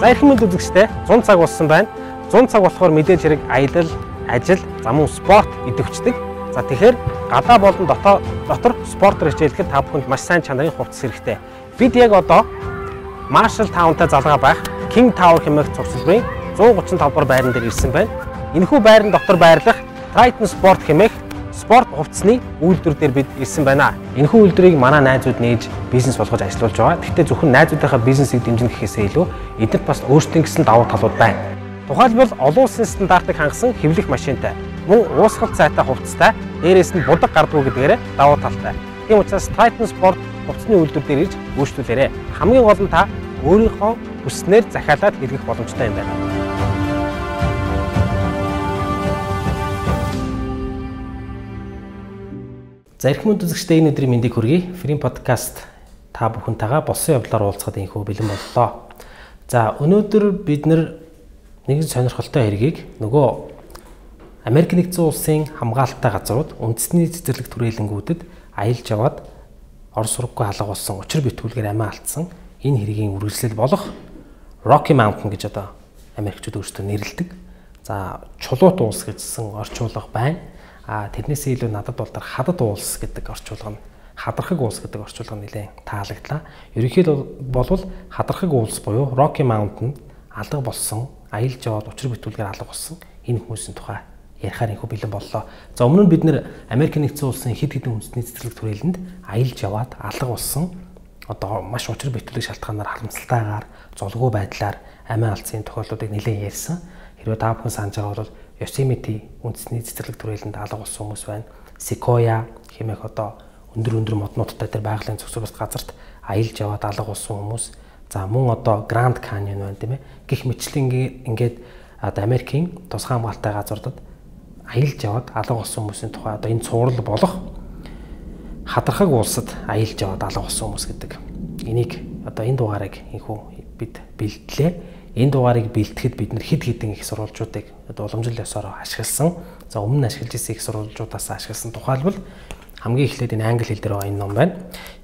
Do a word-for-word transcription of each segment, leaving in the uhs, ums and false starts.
За эрхэм мэнд үзэгчтэй зуун цаг болсон байна. зуун цаг болохоор мэдээж хэрэг аялал, ажил, за мөн спорт идэвхждэг. За тэгэхээр гадаа болон дотор дотор спортоор хичээлэхэд та бүхэнд маш сайн чанарын хувцас хэрэгтэй. Бид яг одоо Marshall Town-тай залгаа байх King Tower хэмээх цогцлбарын зуун гучин тавд дугаар байран дээр ирсэн байна. Энэхүү байран дотор байрлах Triton Sport хэмээх спорт хувцсны үйлдвэр дээр бид ирсэн байна. Энэхүү үйлдвэрийг манай найзууд нээж бизнес болгож ажиллаулж байгаа. Гэхдээ зөвхөн найзуудынхаа бизнесийг дэмжих гэхээсээ илүү эдгээр бас өөрсдийн гэсэн давуу талууд байна. Тухайлбал олон улсын стандартыг хангасан хэвлэх машинтай, мөн уусгалт сайтай хувцастай, дээрээс нь будаг гардгүй гэдгээр давуу талтай. Тийм учраас Triton Sport хувцсны үйлдвэр дээр ирж үйлчлүүлээрэй. Хамгийн гол нь та өөрийнхөө хүснээр захиалаад хэрэглэх боломжтой юм байна. За эрхэм үзэгчдээ энэ өдрийн мэндийг хүргэе. Free podcast та бүхэнтэйгээ болсон явдлаар уулзахад инхүү бэлэн боллоо. За өнөөдөр бид нэг сонирхолтой хэргийг нөгөө Америк нэгдсэн улсын хамгаалалттай газрууд үндэсний цэцэрлэг түрээлэнгүүдэд аялж яваад орос сургаггүй халга болсон учир битгүүлгээр амиа алдсан энэ хэргийн үргэлжлэл болох Rocky Mountain гэж одоо Америкчууд өөрсдөө нэрлэдэг. За чулуут уус гэжсэн орчуулга байна. А тэрнээсээ илүү надад бол хадад уулс гэдэг орчуулга нь хадархаг уулс гэдэг орчуулга нь нэлээд таалагдлаа. Ерөнхийдөө болвол хадархаг уулс буюу Rocky Mountain алга болсон, аялж яваад учир битүүлгээр алга болсон энэ хүмүүсийн тухай ярихаар инхүү бэлэн боллоо. За өмнө нь бид нэр Америк нэгдсэн улсын хэд хэдэн үндэсний цэцэрлэг түрээлэнд аялж яваад алга болсон одоо маш учир битүүлэг шалтгаанаар харамсалтайгаар золгүй байдлаар амиа алдсан тохиолдлуудыг нэлээд ярьсан. Хэрвээ та бүхэн санаж байгаа бол Yosemite үндэсний цэцэрлэг түрээлэнд алга болсон хүмүүс байна. Sequoia хэмээх одоо өндөр өндөр моднуудтай тэр байгалийн зохицуулалт газарт аялж яваад алга болсон хүмүүс. За мөн одоо Grand Canyon байна тийм ээ. Гэх мэтлэн ингээд одоо Америкийн тусгай хамгаалалттай газруудад аялж яваад алга болсон хүмүүсийн тухай одоо энэ цуврал болох хадархаг улсад аялж яваад алга болсон хүмүүс гэдэг. Энийг одоо энэ дугаарыг инхүү бид бэлтлээ. Энэ дугаарыг бэлтгэхэд бид нэр хэд хэдэн их сурвалжуудыг уламжлал ёсоор ашигласан. За өмнө нь ашиглаж ирсэн их сурвалжуудаас ашигласан тухайлбал хамгийн эхлээд энэ англи хэл дээр байгаа энэ ном байна.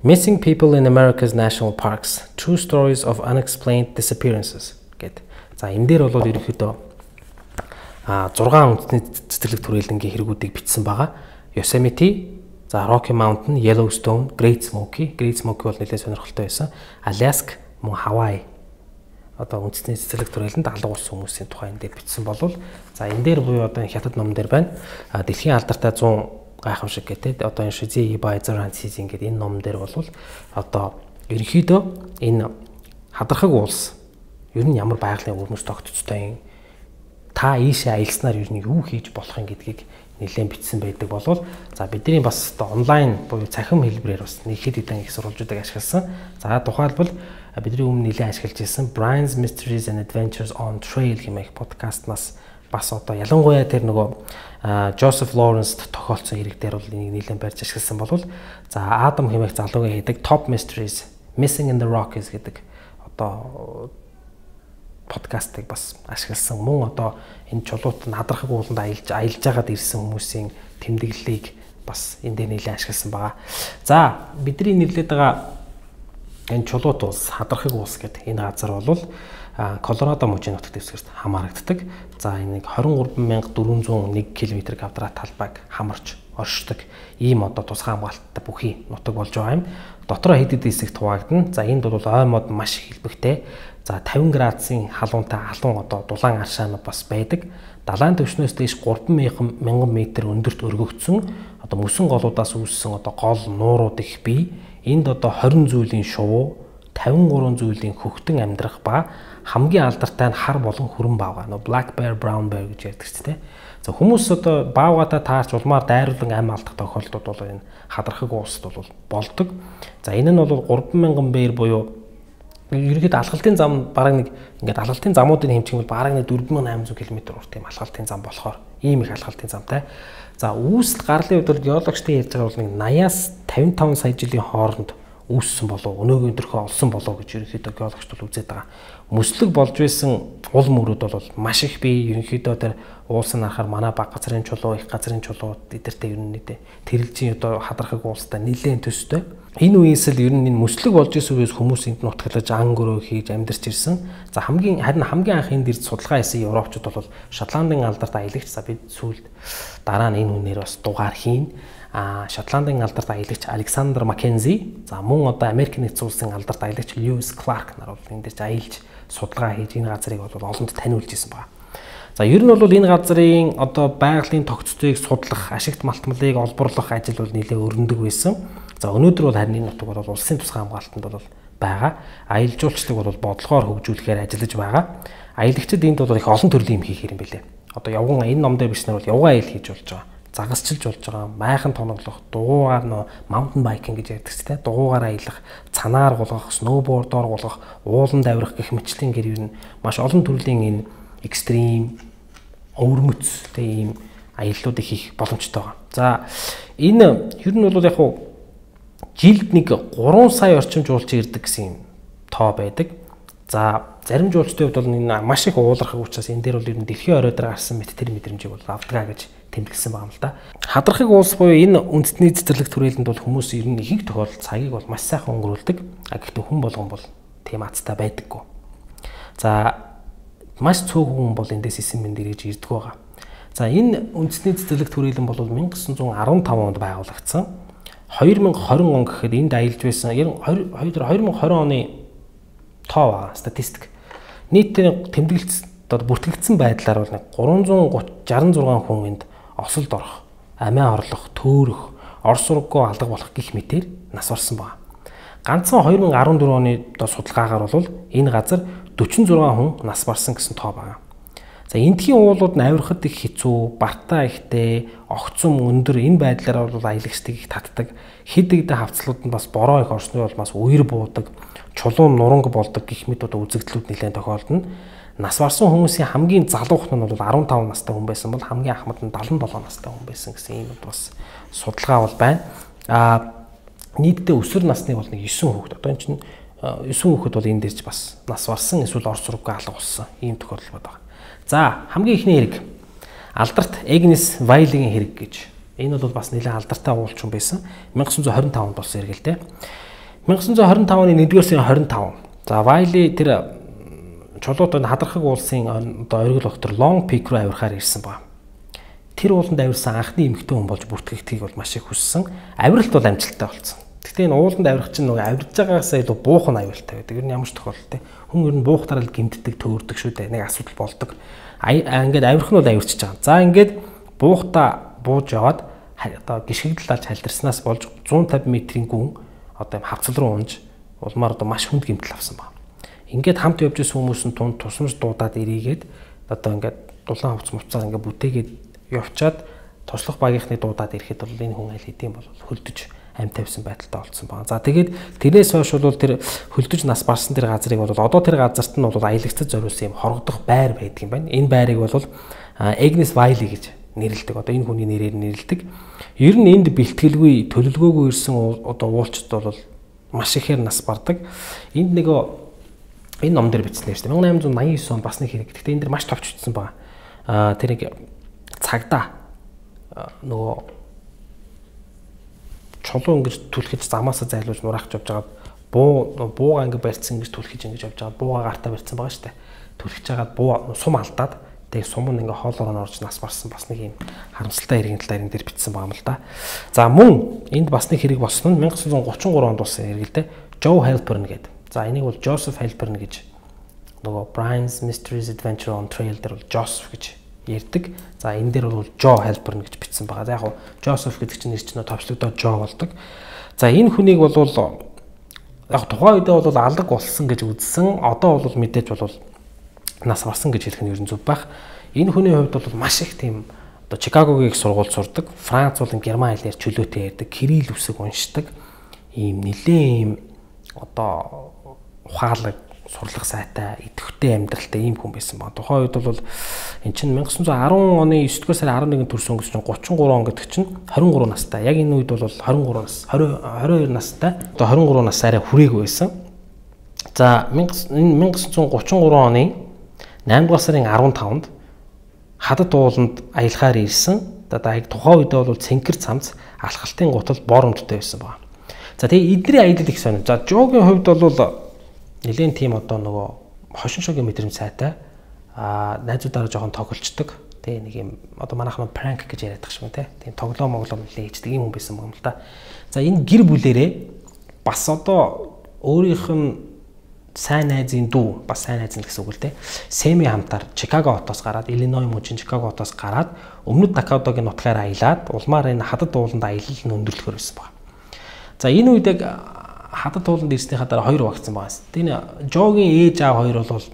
Missing People in America's National Parks: True Stories of Unexplained Disappearances гэд. За энэ дээр бол ерөнхийдөө а зургаан үндэсний цэцэрлэг түрээлэнгийн хэрэгүүдийг бичсэн байгаа. Yosemite, за Rocky Mountain, Yellowstone, Great Smoky, Great Smoky бол нэлээд сонирхолтой байсан. Alaska, мөн Hawaii одоо үндэсний цэцэрлэг түрээлэнд алга болсон хүмүүсийн тухай энэ дээр бичсэн болвол за энэ дээр буюу одоо хятад ном дээр байна. Дэлхийн алдартай зуун гайхамшиг гэдэг одоо энэ Shizzy Baizar Season гэдэг энэ ном дээр болвол одоо ерөнхийдөө энэ хадархаг улс ер нь ямар байгалийн өрнөс тогтцтой юм та ийшээ аялснаар ер нь юу хийж болох юм гэдгийг нэлээд бичсэн байдаг болвол за бидний бас одоо онлайн буюу цахим хэлбэрээр бас нэг хэд хэдэн их сурвалжуудыг ашигласан. За тухайлбал бидний өмнө нэлээд ашиглаж ирсэн Brian's Mysteries and Adventures on Trail хэмээх подкастнаас бас одоо ялангуяа тэр нөгөө Joseph Lawrence тохиолдсон хэрэг дээр бол энийг нэлээд барьж ашигласан болвол за Адам хэмээх залуугийн хийдэг Top Mysteries Missing in the Rockies гэдэг одоо подкастыг бас ашигласан. Мөн одоо энэ чулуут надрахаг ууланд аялж аялж байгаад ирсэн хүмүүсийн тэмдэглэлийг бас энэ дээр нэлээд ашигласан байгаа. За бидний нэрлээд байгаа энэ чулуут улс, хадархаг улс гэдэг энэ газар бол Колорадо мужийн нутаг дэвсгэрт хамаарагддаг. За энийг двадцать три мянга дөрвөн зуун нэг км квадрат талбайг хамарч оршдог ийм одоо тусгай хамгаалттай бүхий нутаг болж байгаа юм. Дотроо хэд хэдэн хэсэгт хуваагдана. За энд бол ой мод маш их хэлбэгтэй. За тавин градусын халуунтай халуун одоо дулаан аршаанууд бас байдаг. Далайн түвшнээс дээш гурван мянган метр өндөрт өргөгдсөн одоо мөсөн голуудаас үүссэн одоо гол нуурууд их бий. Энд одоо двадцать зүйлийн шувуу, тавин гурван зүйлийн хөхтөн амьдрах ба хамгийн алдартай нь хар болон хүрэн баавга. Нөө black bear, brown bear гэж ярьдаг ч тийм. За хүмүүс одоо баавгатаа таарч улмаар дайруулан амь алдах тохиолдлууд бол энэ хадархаг улсад бол болдог. За энэ нь бол гурван мянган бээр буюу ерөнхийдөө алхалтын зам бараг нэг ингээд алхалтын замуудын хэмжээг бол бараг нэг дөрвөн мянган аймаг зуун км урт тийм алхалтын зам болохоор ийм их алхалтын замтай. За үүсэл гарлын хувьд геологчдын ярьж байгаа бол нэг наяас тавин таван сая жилийн хооронд үүссэн болов өнөөгийн өдрөхөө олсон болов гэж ерөнхийдөө геологчд бол үзээд байгаа. Мөслөг болж байсан ул мөрүүд бол маш их бий. Ерөнхийдөө тэр уулсын харахаар манай баг газрын чулуу, их газрын чулуу эдэртэй ер нь нийтээ тэрэлжийн одоо хадрахыг уулстай нэлээд төстэй. Энэ үеэс л ер нь энэ мөслөг болж байсан үеэс хүмүүс энд нутаглаж ан гөрөө хийж амьдарч ирсэн. За хамгийн харин хамгийн анх энд ирж судалгаа хийсэн европчууд бол Шотландын алдарт аялагч. За бид сүүлд дараа нь энэ хүнээр бас дугаар хийн. А Шотландын алдарт аялагч Александр Маккензи, за мөн одоо Америк нэгдсэн улсын алдарт аялагч Льюис Кларк нар бол энэ дэрж аялж судалгаа хийж энэ газрыг бол олонд таниулж ирсэн байна. За ер нь бол энэ газрын одоо байгалийн тогтцоог судлах, ашигт малтмалыг олборлох ажил бол нэлээд өрнөдөг байсан. За өнөөдөр бол харин энэ нутаг бол улсын тусгай хамгаалтанд бол байгаа. Аялал жуулчлалыг бол бодлогоор хөгжүүлэхээр ажиллаж байгаа. Аялагчид энд бол их олон төрлийн юм хийх юм билээ. Одоо явган энэ ном дээр бичснээр бол явган аялал хийж болж байгаа. Загасчилж болж байгаа, майхан тоноглох, дугуугаар нөө маунтин байкинг гэж ярьдаг ч тийм дугуугаар аялах, цанаар гулгах, сноубордоор гулгах, ууланд авирах гэх мэтлийн гэр ер нь маш олон төрлийн энэ экстрим өвөрмөц тийм аяллуудыг хийх боломжтой байгаа. За энэ ер нь бол яг хуу жилд нэг гурван сая орчим жуулчин ирдэг гэсэн тоо байдаг. За зарим жуулчдын хувьд бол энэ маш их уулархаг учраас энэ дээр бол ер нь дэлхийн орой дээр гарсан мэт тэр мэдрэмжийг бол авдгаа гэж тэмдэглэсэн байгаа юм л да. Хадрахыг уулс буюу энэ үндэсний цэцэрлэг түрээлэнд бол хүмүүс ер нь ихэнх тохиолдолд цагийг бол маш сайхан өнгөрүүлдэг. А гэхдээ хүн болгон бол тийм азтай байдаггүй. За маш цөөхөн хүн бол эндээс исэн мэнд ирж ирдэг байгаа. За энэ үндэсний цэцэрлэг түрээлэн бол 천ин дзүү арван тав онд байгуулагдсан. хоёр мянга хорин он гэхэд энд аялж байсан хоёр мянга хорин оны тоо байгаа статистик. Нийтээр тэмдэглэлт одоо бүртгэгдсэн байдлаар бол гурван зуун шалгасан зургаан хүн энд осолд орох, амиа орлох, төөрөх, ор сургаггүй алга болох гих мэтээр нас барсан байна. Ганцхан хоёр мянга арван дөрвөн оны судалгаагаар бол энэ газар дөрвөн зургаан хүн нас барсан гэсэн тоо байна. За эндхийн уулууд нь авирахад их хэцүү, бартаа ихтэй, огцом өндөр энэ байдлаар бол аялагчдыг их татдаг. Хэд хэдэн хавцлууд нь бас бороо их орсны бол бас үер буудаг, чулуун нуранг болдог гэх мэт одоо үзэгдлүүд нэлээд тохиолдно. Нас барсан хүмүүсийн хамгийн залуух нь бол арван тав настай хүн байсан бол хамгийн ахмад нь дагалан долоо настай хүн байсан гэсэн ийм бас судалгаа бол байна. А нийтдээ өсвөр насны бол нэг девять хүүхэд. Одоо энэ чинь девять хүүхэд бол энэ дээрч бас нас барсан эсвэл ор сургаггүй алга болсон ийм тохиолдол байна. За хамгийн ихний хэрэг алдарт Агнес Вайлигийн хэрэг гэж. Энэ бол бас нэлээд алдартай уулчин байсан. 천ин дзүү хорин тав онд болсон хэрэг л дээ. 천ин дзүү хорин тав оны нэгдүгээр сарын хорин тав. За Вайли тэр чулуутанд хадрахыг уулсын одоо оргил доктор Long Peak руу авирахаар ирсэн ба. Тэр ууланд авирсан анхны эмэгтэй хүн болж бүртгэгдхийг бол маш их хүссэн. Авиралт бол амжилттай болсон. Гэхдээ энэ ууланд авирах чинь нөгөө авирж байгаагаас илүү буух нь аюултай байдаг. Ер нь ямар ч тохиолдолтой. Хүн ер нь буухтараа л гэмтдэг, төөрдөг шүү дээ. Нэг асуудал болдог. Ингээд авирах нь бол авирчиж байгаа. За ингээд буухта бууж яваад одоо гიშгэгдэлж халдирснаас болж зуун тавин метрийн гүн одоо юм хавцал руу унж улмаар одоо маш хүнд гэмтэл авсан байна. Ингээд хамт явж исэн хүмүүс нь тунд тусмж дуудаад ирээгээд одоо ингээд дулаан хувц муцаар ингээд бүтээгээд явчаад туслах багийнхны дуудаад ирэхэд бол энэ хүн аль хэдийн бол хөлдөж амь тавьсан байдалтай болцсон байна. За тэгээд тэрнээс хойш бол тэр хөлдөж нас барсан тэр газрыг бол одоо тэр газарт нь бол аялагчдад зориулсан юм хорогдох байр байдаг юм байна. Энэ байрыг бол Agnes Wiley гэж нэрлэдэг. Одоо энэ хүний нэрээр нэрлэдэг. Ер нь энд бэлтгэлгүй төлөвлөгөөгүй ирсэн одоо уулчд бол маш ихээр нас бардаг. Энд нөгөө энэ ном дээр бичсэн шүү дээ. 천ин восемьсот восемьдесят девять он бас нэг хэрэг. Гэхдээ энэ дэр маш товч бичсэн байна. Аа тэр нэг цагдаа нөгөө чулуу ингэж түлхэж замаасаа зайлуулж нураахж явж байгаад буу бууга ингэ барьцсан ингэж түлхэж ингэж явж байгаад бууга гартаа барьцсан байгаа шүү дээ. Түлхэж байгаад буу сум алдаад тэгээ сум нь ингээ хоолоор нь орж нас барсан бас нэг юм харамсалтай хэргийн талаар энэ дээр бичсэн байгаа юм л да. За мөн энд бас нэг хэрэг болсон нь 천ин девятьсот тридцать три онд болсон хэрэг л дээ. Joe Halpern гэдэг. За энийг бол Joseph Halpern гэж нөгөө Brian's Mysteries Adventure on Trail дээр бол Joseph гэж ярьдаг. За энэ дээр бол Joe Halpern гэж бичсэн байгаа. Яг нь Joseph гэдэг чинь нэр чинь товчлогдоод Joe болдог. За энэ хүнийг бол яг тухайн үедээ бол алга болсон гэж үзсэн. Одоо бол мэдээж бол нас барсан гэж хэлэх нь ер нь зөв байх. Энэ хүний хувьд бол маш их тийм одоо Чикагогийн их сургууль сурдаг. Франц болон Герман хэлээр чөлөөтэй ярьдаг. Кирилл үсэг уншдаг. Ийм нэлээд ийм одоо ухаалаг сурлах сайтай, идэвхтэй амьдралтай ийм хүн байсан баг. Тухайн үед бол эн чинь 천ix дөрвөн оны есдүгээр сарын арван нэгнд төрсөн өнгөс чинь гучин гурван он гэдэг чинь хорин гурван настай. Яг энэ үед бол хорин гурван нас, двадцать двадцать хоёр настай. Одоо хорин гурван нас арай хүрээгүй байсан. За 천ix гучин гурван оны наймдугаар сарын арван тавнд хадад ууланд аялахаар ирсэн. Одоо аяг тухайн үед бол цэнхэр цамц алхалтын гутал бор өмдтэй байсан баг. За тэгээ эдний аялал их сонир. За Жогийн хувьд бол нэлээд тийм одоо нөгөө хошин шогийн мэдрэмж сайтай. Аа найзуудаараа жоохон тоглолцдог. Тэгээ нэг юм одоо манайхан пранк гэж яриад тах шиг тийм. Тийм тоглоом моглоом нэлээд хийдэг юм хүн байсан юм л да. За энэ гэр бүлэрээ бас одоо өөрийнх нь сайн найзын дүү, бас сайн найз нь гэсэн үг л дээ. Сэми хамтаар Чикаго хотоос гараад, Иллиной мужийн Чикаго хотоос гараад өмнөд Дакотагийн нутгаар аялаад улмаар энэ хадад ууланд аялал нь өндөрлөхөр байсан байна. За энэ үед яг хадад ууланд ирснийхаа дараа хоёр багцсан байгаа. Энэ Жогийн ээж аав хоёр бол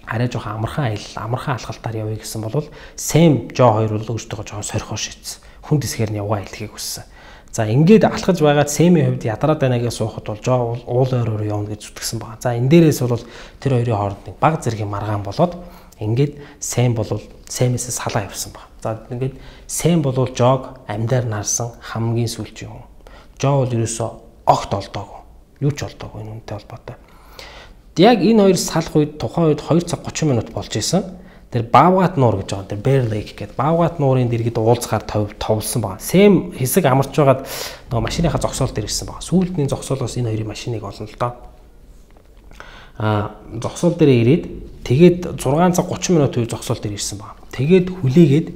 арай жоохон амархан аялал, амархан алхалтаар явъя гэсэн бол Сэм Жо хоёр бол өөртөө жоохон сорхоо шийдсэн. Хүн дэсгээр нь явгаа аялахыг хүссэн. За ингээд алхаж байгаад Сэмийн хувьд ядраад байнагийн суухад бол Жо уул ойроор явна гэж зүтгэсэн байна. За энэ дээрээс бол тэр хоёрын хооронд нэг баг зэргийн маргаан болоод ингээд Сэм бол Сэмээс салаа явсан байна. За ингээд Сэм бол Жог амьдаар нарсан хамгийн сүүлчийн хүн. Жо бол ерөөсөө огт олдоогүй. Юу ч олдоогүй энэ үнтэй холбоотой. Яг энэ хоёр салах үед тухайн үед хоёр цаг гучин минут болж исэн. Тэр Баавгат нуур гэж байгаа. Тэр Bear Lake гэдэг Баавгат нуурын дэргэд уулзахаар товлсон байна. Сэм хэсэг амарч байгаад нөгөө машиныхаа зогсоол дээр ирсэн байна. Сүүлдний зогсоолоос энэ хоёрын машиныг олно л доо. Аа зогсоол дээр ирээд тэгээд зургаан цаг гучин минут үе зогсоол дээр ирсэн байна. Тэгээд хүлээгээд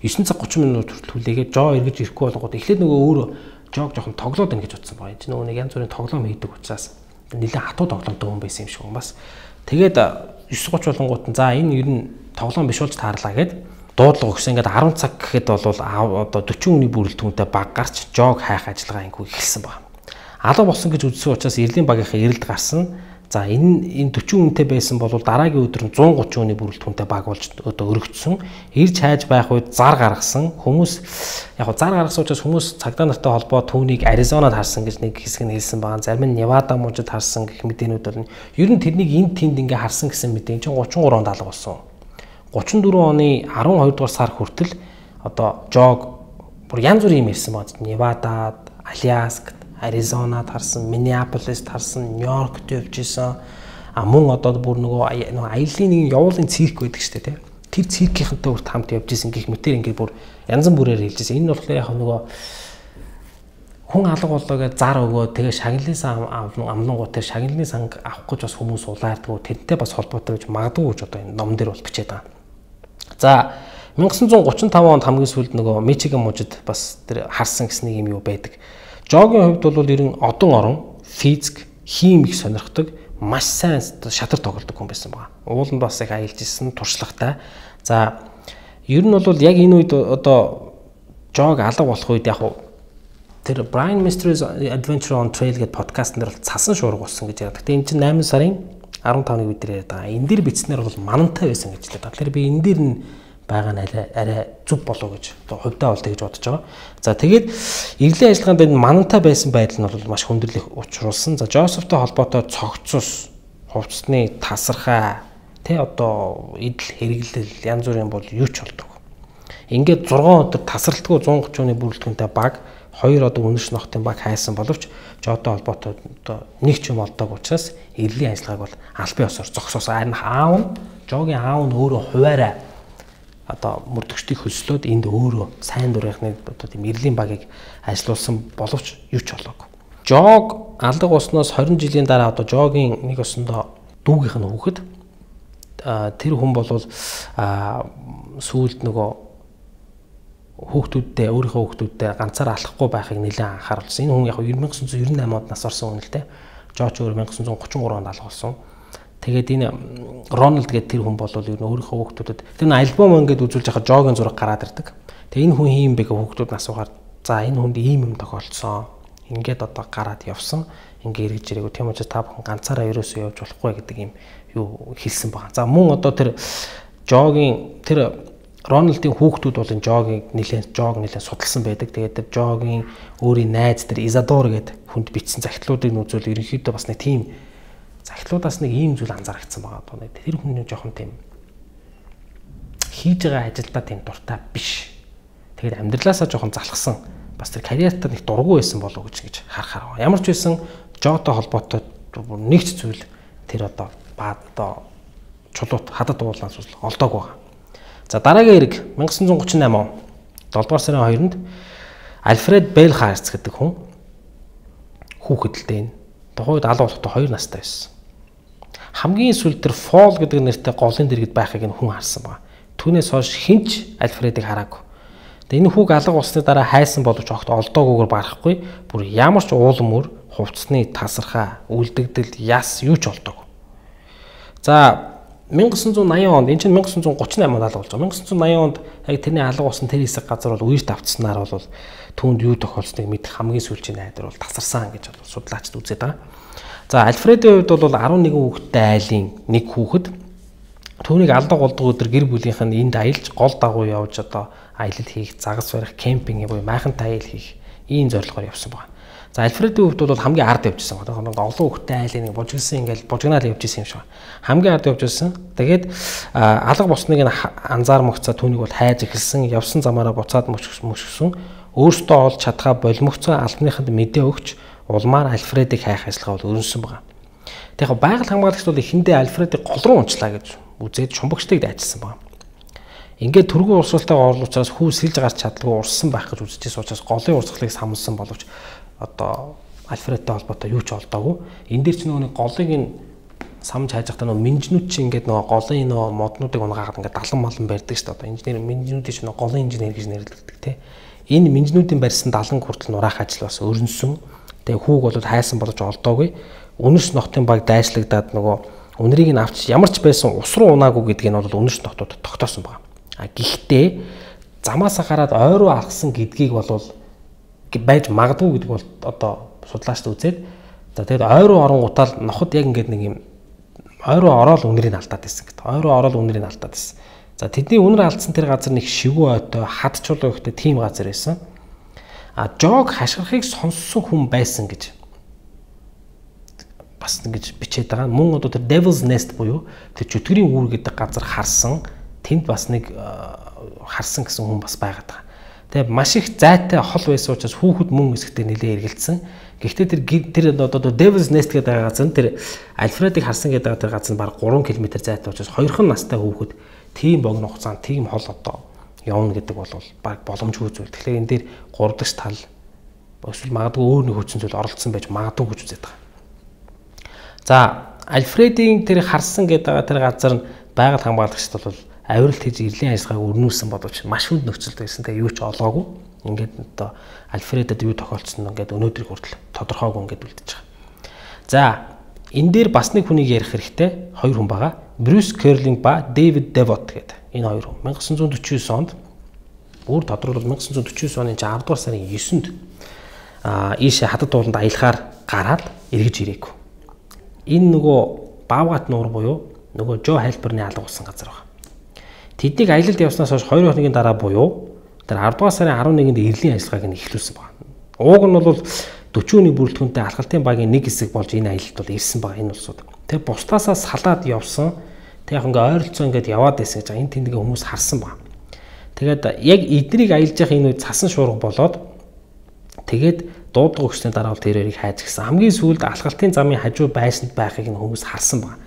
девять цаг гучин минут хүртэл хүлээгээд Жо эргэж ирэхгүй болгоод эхлээд нөгөө өөрөө Жог жоохон тоглоод байна гэж утсан байна. Энд нөгөө нэг янз бүрийн тоглоом хийдэг учраас нэлээд хатуу тоглоомтой хүн байсан юм шиг байна. Бас тэгээд девять гучин болонгууд нь за энэ ер нь тоглоом биш болж таарлаа гэд дуудлага өгсөн. Ингээд арван цаг гэхэд бол одоо дөрвөн хүний бүрэлдэхүүнтэй баг гарч Жог хайх ажиллагаа ингүй эхэлсэн байна. Алга болсон гэж үзсэн учраас Эрлийн багийнхаа эрэлд гарсан. За энэ энэ дөрвөн хүнтэй байсан бол дараагийн өдөр нь one thirty хүний бүрэлдэхүүнтэй баг болж одоо өргөцсөн. Ирж хайж байх үед зар гаргасан. Хүмүүс яг зар гаргасан учраас хүмүүс цагдаа нартай холбоо түүнийг Аризонад харсан гэж нэг хэсэг нь хэлсэн байна. Зарим нь Невада мужид харсан гэх мэдээнүүд бол ер нь тэрнийг энд тэнд ингээ харсан гэсэн мэдээн чинь thirty-three онд алга болсон. thirty-four оны twelve дугаар сар хүртэл одоо Жог бүр янз бүрийн юм ирсэн байна. Невадад, Аляскад, Аризонад харсан, Миннеаполист харсан, Нью-Йоркт явж исэн. А мөн одоо бүр нөгөө нөгөө аяллаа нэг явуулын цирк байдаг шүү дээ, тэр циркийнхэнтэй урт хамт явж исэн гэх мэтэр ингээд бүр янз бүрээр хэлж исэн. Энэ нь болохоор яг нөгөө хүн алга болоо гэж зар өгөө тэгээ шагналын сан амлангуу тэр шагналын сан авах гэж бас хүмүүс улаардгүй тэрнтэй бас холбоотой гэж магадгүй гэж одоо энэ ном дээр бол бичээд байгаа. За nineteen thirty-five онд хамгийн сүүлд нөгөө Мичиган мужид бас тэр харсан гэсэн нэг юм юу байдаг. Жогийн хувьд бол ер нь одон орон, физик, хим их сонирхдаг, маш сайн шатар тоглодог хүн байсан байна. Уул нь бас их аялж ирсэн, туршлагатай. За ер нь бол яг энэ үед одоо Жог алга болох үед яг тэр Brian Mystery's Adventure on Trail гэдэг подкаст нэр бол цасан шуурга болсон гэж яриад. Гэтэ энэ чинь найман сарын fifteen-ны үед яриад байгаа. Энэ дэр бичснээр бол манантай байсан гэж хэлээд. Тэгэхээр би энэ дэр нь байгаа нь арай арай зүв болоо гэж одоо хувьдаа бол тэгж бодож байгаа. За тэгээд эрлийн ажиллагаанд энэ манантай байсан байдал нь бол маш хүндрэлийг учруулсан. За Жозефтэй холбоотой цогцос, хувцсны тасархай, тэ одоо идэл хэрэглэл янз бүрийн бол юу ч болдог. Ингээд six өдөр тасралтгүй one thirty оны бүрэлдэхүүнтэй баг хоёр одоо үнэрш нохтын баг хайсан боловч Жодтой холбоотой одоо нэг ч юм олдог учраас эрлийн ажиллагааг бол албан ёсоор зогсоосон. Харин аав нь Жогийн аав нь өөрөө хуваараа одоо мөрдөгчдийг хөслөөд энд өөрөө сайн дурынхны одоо тийм эрлийн багийг ажилуулсан боловч юу ч болоогүй. Жог алга болсноос twenty жилийн дараа одоо Жогийн нэг өсөндөө дүүгийнх нь хүүхэд тэр хүн бол сүүлд нөгөө хүүхдүүдтэй өөрийнхөө хүүхдүүдтэй ганцаар алахгүй байхыг нэлээд анхааруулсан. Энэ хүн яг nineteen ninety-nine онд нас орсон хүн л дээ. Жож өөр nineteen thirty-three онд алга болсон. Тэгээд энэ Рональд гэдэг тэр хүн бол ер нь өөрийнхөө хүүхдүүдэд тэр нь альбом ингээд үзүүлж байхад Жогийн зураг гараад ирдэг. Тэгээд энэ хүн хийм бэ гэх хүүхдүүд асуугаар за энэ хүнд ийм юм тохиолдсон. Ингээд одоо гараад явсан. Ингээ эргэж ирээгүй. Тийм учраас та бүхэн ганцаараа ерөөсөө явж болохгүй гэдэг юм юу хэлсэн байна. За мөн одоо тэр Жогийн тэр Рональдын хүүхдүүд бол энэ Жогийг нэлээд Жог нэлээд судалсан байдаг. Тэгээд тэр Жогийн өөрийн найз тэр Изадор гэдэг хүнд бичсэн захидлуудыг үзвэл ерөнхийдөө бас нэг тийм За эхлүүдээс нэг ийм зүйл анзаарчихсан байгаа. Одоо нэг тэр хүн жоохон тийм хийж байгаа ажилдаа тийм дуртай биш. Тэгээд амьдралаасаа жоохон залхсан. Бас тэр карьертаа нэг дургу байсан болов уу гэж ингэж харахаар. Ямар ч байсан жоотой холбоотой нэг ч зүйл тэр одоо баа одоо чулуут хадад уулаас олдог байгаа. За дараагийн хэрэг 천구35 он долдугаар сарын хоёрнд Альфред Белхарц гэдэг хүн хүүхэдэлтэй энэ. Тухайд алуу болохтой хоёр настай байсан. Хамгийн сүүлд тэр Фол гэдэг нэртэй голын дэргэд байхыг энэ хүн харсан байна. Түүнээс хойш хинч Альфредыг хараагүй. Тэгээ энэ хүүг алга болсны дараа хайсан боловч огт олдоогүйгээр барахгүй. Бүр ямар ч уулам өр, хувцсны тасархаа, үлдэгдэл, яс юу ч олдоогүй. За 천구 eighty онд энэ чинь 천구 thirty-eight онд алга болж байгаа. 천구 eighty онд яг тэрний алга болсон тэр хэсэг газар бол үерт автснаар бол түүнд юу тохиолсныг мэдэх хамгийн сүүлийн найдар бол тасарсан гэж бол судлаачд үзээд байгаа. За Альфредийн хувьд бол eleven хүүхэдтэй айлын нэг хүүхэд түүнийг алдаг болдог өдөр гэр бүлийнх нь энд аялж гол дагуу явж одоо аялал хийх, загас барих, кемпинг буюу майхантай аял хийх ийм зорилгоор явсан байна. За Альфредийн хувьд бол хамгийн ард явжсэн. Одоо олон хүүхэдтэй айлын нэг бужигсан ингээл бужигнаал явж исэн юм шиг. Хамгийн ард явж исэн. Тэгээд алга болсныг анзаармагцаа түүнийг бол хайж эхэлсэн. Явсан замаараа буцаад мөшгсөн. Өөртөө олж чадхаа болмогцоо албаныханд мэдээ өгч улмаар Альфредийг хайх ажиллагаа бол өрнөсөн байна. Тэгэхээр байгаль хамгаалагч бол эхэндээ Альфредийг гол руу унчлаа гэж үзээд шумбагчдыг дайчилсан байна. Ингээд түргэн урсгалтайгаа орлуучраас хүү сэлж гарч чадлагүй урссан байх гэж үзчихсэн учраас голын урсгалыг самлсан боловч одоо Альфредтэй холбоотой юу ч олдоогүй. Энэ дээр ч нөгөө голыг нь самж хайж байхдаа нөгөө минжнүүд чи ингээд нөгөө голын нөгөө моднуудыг унгаагаад ингээд далан малан барьдаг шүү дээ. Одоо инженер минжнүүдийн ч нөгөө голын инженер гэж нэрлэгддэг тий. Энэ минжнүүдийн барьсан далан хүртэл нураах ажил бас өрнөсөн. Тэгээ хүүг бол хайсан болож олдоогүй. Үнэрс нохтын баг дайшлагдаад нөгөө үнэрийг нь авч ямар ч байсан ус руу унаагүй гэдгийг нь бол үнэрс нохтууд тогтоосон байна. А гэхдээ замаасаа гараад ой руу алхсан гэдгийг бол байж магадгүй гэдэг бол одоо судлаачд үзээд за тэгээд ой руу оронгуудаа ноход яг ингээд нэг юм ой руу ороод үнэрийг алдаад байсан гэдэг. Ой руу ороод үнэрийг алдаад байсан. За тэдний үнэр алдсан тэр газар нэг шивүү ойтой хад чулуу ихтэй тийм газар байсан. А жог хашгирахыг сонссон хүн байсан гэж бас ингэж бичээд байгаа. Мөн одоо тэр Devil's Nest буюу тэр чөтгөрийн үүр гэдэг газар харсан тэнд бас нэг харсан гэсэн хүн бас байгаад байгаа. Тэгээ маш их зайтай хол байсан учраас хүүхэд мөн хэсэгтээ нэлээ эргэлдсэн. Гэхдээ тэр тэр одоо Devil's Nest гэдэг газар нь тэр Альфредийг харсан гэдэг тэр газар нь бараг three километр зайтай учраас хоёрхан настай хүүхэд тийм богино хугацаанд тийм хол одоо явна гэдэг бол баг боломжгүй зүйл. Тэгэхээр энэ дээр гурав дахь тал эсвэл магадгүй өөр нэг хүчин зүйл оролцсон байж магадгүй гэж үздэг. За Альфредийн тэр харсан гэдэг тэр газар нь байгаль хамгаалагчд бол авиралт хийж ирлийн ажиллагааг өрнүүлсэн боловч маш хүнд нөхцөлд байсан. Тэгээ юу ч олоогүй. Ингээд одоо Альфредэд юу тохиолдсон нь ингээд өнөөдрийг хүртэл тодорхойгүй ингээд үлдэж байгаа. За энэ дээр бас нэг хүнийг ярих хэрэгтэй. Хоёр хүн байгаа. Брюс Керлинг ба Дэвид Девот гэдэг. Энэ хоёр хүн nineteen forty-nine онд бүр тодорхойлбол nineteen forty-nine оны ten дугаар сарын ninth-нд аа ийшээ хатад ууланд аялахаар гараад эргэж ирээгүй. Энэ нөгөө Бавгат нуур буюу нөгөө Жо Хайлберны алга болсон газар байна. Тэднийг аялалд явснаас хойш two хоногийн дараа буюу тэр ten дугаар сарын eleventh-нд эрлийн ажиллагааг нь эхлүүлсэн байна. Ууг нь бол forty хүний бүрэлдэхүүнтэй алхалтын багийн нэг хэсэг болж энэ аялалд бол ирсэн байгаа энэ улсууд. Тэгээ бусдаасаа салаад явсан. Тэг яг ингээ ойролцоо ингээд яваад байсан гэж энэ тэмдгийн хүмүүс харсан байна. Тэгээд яг эднийг аялж явах энэ үед цасан шуурга болоод тэгээд дуудлага өгсөний дараа бол тэрэрийг хайж гисэн. Хамгийн сүүлд алхалтын замын хажуу байшинд байхыг нь хүмүүс харсан байна.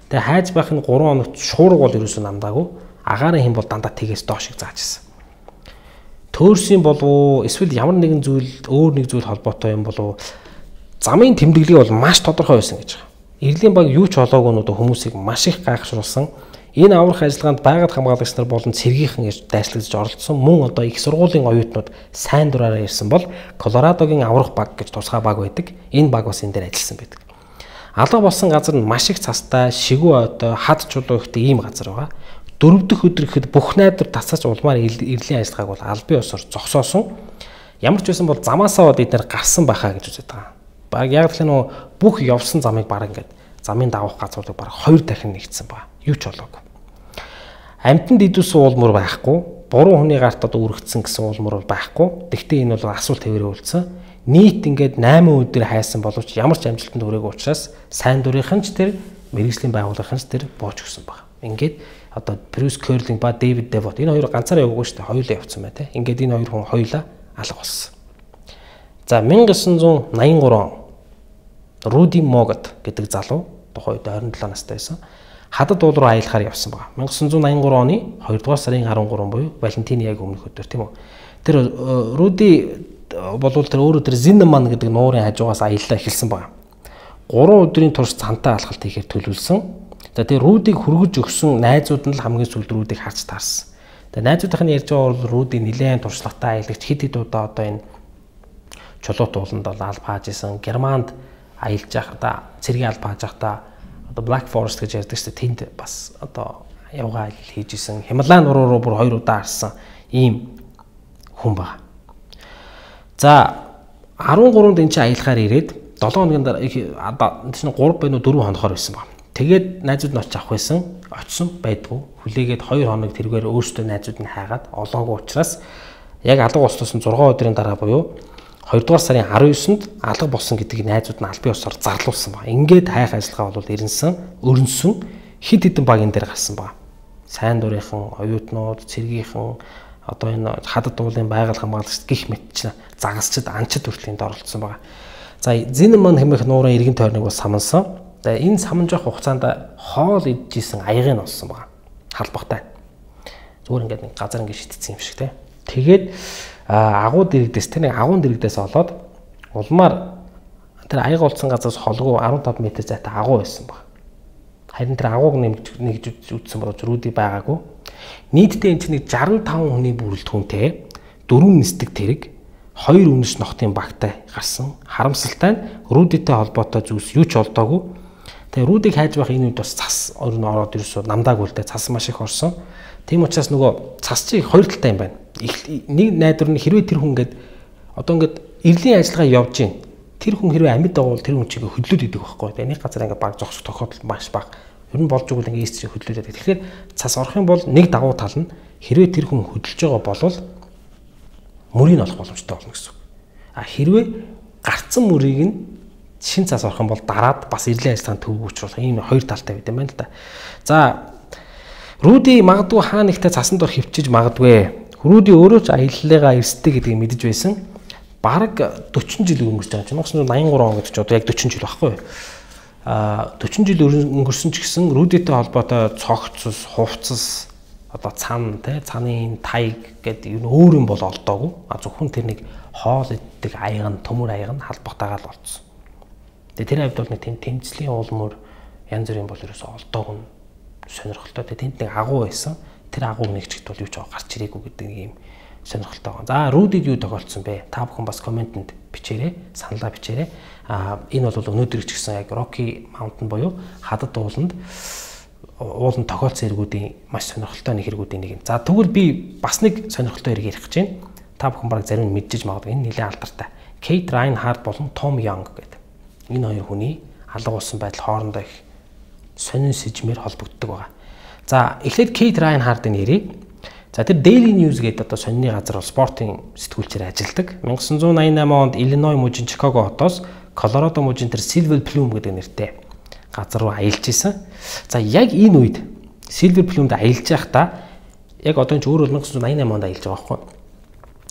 Тэгээ хайж байх нь three хоногт шуурга бол ерөөсөө намдаагүй. Агаарын хэм бол дандаа тэгээс доош шиг зааж гисэн. Төөрсөн болов эсвэл ямар нэгэн зүйл өөр нэг зүйл холбоотой юм болов замын тэмдэглэл бол маш тодорхой байсан гэж байна. Эрлийн баг юу ч олоогүй нь хүмүүсийг маш их гайхшруулсан. Энэ аврах ажиллагаанд байгаль хамгаалагч нар болон цэргийнхэн гэж дайслагдж оролцсон. Мөн одоо их сургуулийн оюутнууд сайн дураараа ирсэн бол Колорадогийн аврах баг гэж тусгай баг байдаг. Энэ баг бас энэ дээр ажилласан байдаг. Алга болсон газар нь маш их цастай, шигүү ойтой, хад чулуу ихтэй ийм газар байгаа. Дөрөв дэх өдөр ихэд бүх найдвар тасаач улмаар эрлийн ажиллагааг бол албан ёсоор зогсоосон. Ямар ч байсан бол замаасаа бид нэр гарсан байхаа гэж үздэг байгаа. Баг яг л нөө бүх явсан замыг баг ингээд замын давах газруудыг баг хоёр дахин нэгдсэн ба. Юу ч болоогүй. Амтанд идүүлсэн уулмөр байхгүй, буруу хүний гарт одоо үргэлжсэн гэсэн уулмөр бол байхгүй. Тэгвэл энэ бол асуулт хэвээрээ үлдсэн. нийт ингээд найман өдөр хайсан боловч ямар ч амжилтанд хүрээгүй учраас сайн дурынхан ч тэр мэргэжлийн байгууллагын ч тэр бууж өгсөн баг. Ингээд одоо Брюс Кёрлинг ба Дэвид Девот энэ хоёр ганцаараа яваагүй шүү дээ. Хоёулаа явцсан бай тээ. Ингээд энэ хоёр хүн хоёулаа алга болсон. За 천구 найман он Руди Могот гэдэг залуу тухайд двадцать seven настай байсан. Хадад уул руу аялахаар явсан баг. 천구 найман оны хоёрдугаар сарын арван гурав буюу Валентины яг өмнөх өдөр тийм үү. Тэр Руди болвол тэр өөрөө тэр Зиннеман гэдэг нуурын хажуугаас аяллаа эхэлсэн баг. гурван өдрийн турш цантаа алхалт хийхээр төлөвлөсөн. За тэр Рудиг хүргэж өгсөн найзууд нь л хамгийн сүүлд Рудиг харж таарсан. Тэгээ найзуудын ярьж байгаа бол Руди нэлээд туршлагатай аялагч хэд хэд удаа одоо энэ чулуут ууланд бол алба хааж исэн. Германд аялж байхдаа цэргийн алба хааж байхдаа одоо Black Forest гэж ярьдаг шүү дээ. Тэнд бас одоо явгаа аялал хийж исэн. Хималай нуруу руу бүр хоёр удаа харсан ийм хүн баг. За арван гурав энэ чинь аялахаар ирээд долоон хоногийн дараа энэ чинь гурав байнуу дөрвөн хоногоор байсан баг. Тэгээд найзууд нь очиж авах байсан. Очсон байдгүй. Хүлээгээд хоёр хоног тэргээр өөрсдөө найзууд нь хайгаад олоогүй учраас яг алга болсноос зургаан өдрийн дараа буюу хоёрдугаар сарын арван девятнд алга болсон гэдгийг найзууд нь албан ёсоор зарлуулсан баг. Ингээд хайх ажиллагаа бол ирэнсэн, өрнсөн хид хідэн баг энэ дээр гарсан баг. Сайн дурынхан, оюутнууд, цэргийнхэн одоо энэ хадад уулын байгаль хамгаалагч гих мэтч загасчд анчид хүртлийн доролцсон баг. За Зиннеман хэмээх нуурын иргэн тойрныг бас самансан. За энэ саманж явах хугацаанд хоол идчихсэн аягыг олсон баг. Халбахтай. Зүгээр ингээд нэг газар ингээд шитцсэн юм шиг те. Тэгээд агуу дэрэгдээс тэр нэг агуун дэрэгдээс олоод улмаар тэр аяг олсон газраас холгүй арван тав метр зайтай агуу байсан баг. Харин тэр агууг нэмж нэгж үтсэн боловч Руди байгаагүй. Нийтдээ энэ чинь шестдесят и пять хүний бүрэлдэхүүнтэй дөрвөн нисдэг тэрэг хоёр үнэш нохтын багтай гарсан. Харамсалтай нь Рудитэй холбоотой зүйлс юу ч олдоогүй. Тэгээ Рудиг хайж байх энэ үед бас цас орон ороод ирсэн намдаагүй л дээ цас маш их орсон. Тийм учраас нөгөө цас чи хоёр талтай юм байна. Нэг найдвар нь хэрвээ тэр хүн ингээд одоо ингээд эрлийн ажиллагаа явж гин тэр хүн хэрвээ амьд байгуул тэр хүн чигээ хөдлөөд идэг байхгүй. Тэгээ нэг газар ингээд баг зогсох тохиолдол маш бага. Ер нь болж игэл ингээд ийс чи хөдлөөд идэг. Тэгэхээр цас орох юм бол нэг дагуу тал нь хэрвээ тэр хүн хөдөлж байгаа болвол мөрийг олох боломжтой болно гэсэн үг. А хэрвээ гарцсан мөрийг нь шин цас орох юм бол дараад бас эрлийн ажиллагаанд төвөг учруулах ийм хоёр талтай байт юм байна л да. За Руди магадгүй хаа нэгтээ цасан дор хөвчиж магадгүй. Руди өөрөө ч аяллаагаа эрсдэй гэдгийг мэдэж байсан. Бараг forty жил өнгөрч байгаа юм. 천구 найман он гэдэг чинь одоо яг forty жил байхгүй юу? Аа forty жил өнгөрсөн ч гэсэн Рудитэй холбоотой цогцос, хувцас одоо цан тий цаны тайг гэдэг юу өөр юм бол олдоогүй. А зөвхөн тэр нэг хоол иддэг аяг нь төмөр аяг нь халбахтайгаа л олцсон. Тэгээ тэр хавьд бол нэг тэм тэмцлийн уулмөр янз бүрийн бол ерөөсөө олдоогүй сонирхолтой. Тэгээ тэнд нэг агуу байсан. Тэр агууг нэгчгт бол юу ч гарч ирээгүй гэдэг нэг юм сонирхолтой байна. За Рудид юу тохиолдсон бэ? Та бүхэн бас комментэнд бичээрэй, саналаа бичээрэй. А энэ бол өнөөдөр ч гэсэн яг Rocky Mountain буюу хадад ууланд уулын тохиолдсон эргүүдийн маш сонирхолтой нэг хэрэгүүдийн нэг юм. За тэгвэл би бас нэг сонирхолтой хэрэг ярих гэж байна. Та бүхэн баг зарим нь мэдчихэж магадгүй энэ нэлээд алдартай. Кейт Райнхард болон Том Янг гэдэг. Энэ хоёр хүний алга болсон байдал хоорондоо их сонин сэжмээр холбогддог байгаа. За эхлээд Кейт Райнхардын нэрийг за тэр Daily News гэдэг одоо сонины газар бол спортын сэтгүүлчээр ажилладаг. 천구 восемьдесят восемь онд Иллиной мужийн Чикаго хотоос Колорадо мужийн тэр Silver Plume гэдэг нэртэй газар руу аялж исэн. За яг энэ үед Silver Plume-д аялж байхдаа яг одоо энэ ч өөр 천구 восемьдесят восемь онд аялж байгаа байхгүй.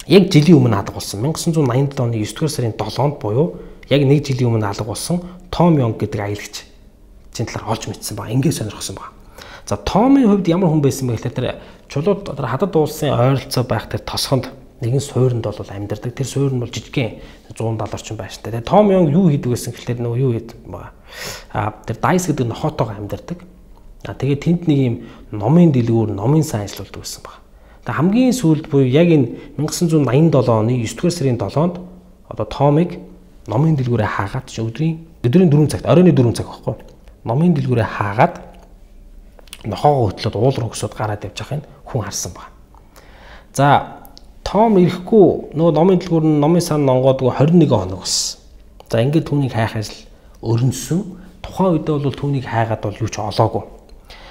Яг жилийн өмнө алга болсон. 천구 восемьдесят восемь оны девятдугаар сарын долоонд буюу яг нэг жилийн өмнө алга болсон Том Янг гэдэг аялагч чинь талаар олж мэдсэн ба ингээд сонирхсан ба. За Томын хувьд ямар хүн байсан бэ гэхээр тэр чулууд тэр хадад уулсын ойролцоо байх тэр тосгонд нэгэн суурьнд бол амьдардаг. Тэр суурь нь бол жижигхэн one seventy орчим байштай. Тэгээ Том Янг юу хийдэг байсан гэхээр нөгөө юу хийдэг байгаа. А тэр Дайс гэдэг нохотойгоо амьдардаг. А тэгээ тэнд нэг юм номын дэлгүүр, номын сан ажиллаулдаг байсан баг. Тэгээ хамгийн сүүлд буюу яг энэ 천구 восемьдесят seven оны девятдугаар сарын долоонд одоо Томыг номын дэлгүүрээ хаагаад чи өдрийн өдрийн four цагт, оройн four цаг байхгүй. Номын дэлгүүрээ хаагаад нохоогоо хөтлөөд уул руу өсөд гараад явж байхын хүн харсан баг. За Том ирэхгүй нөгөө номын дэлгүүр нь номын сан нонгоодгүй twenty-one хоног болсон. За ингээд түүнийг хайх ажил өрнөсөн. Тухайн үедээ бол түүнийг хайгаад бол юу ч олоогүй.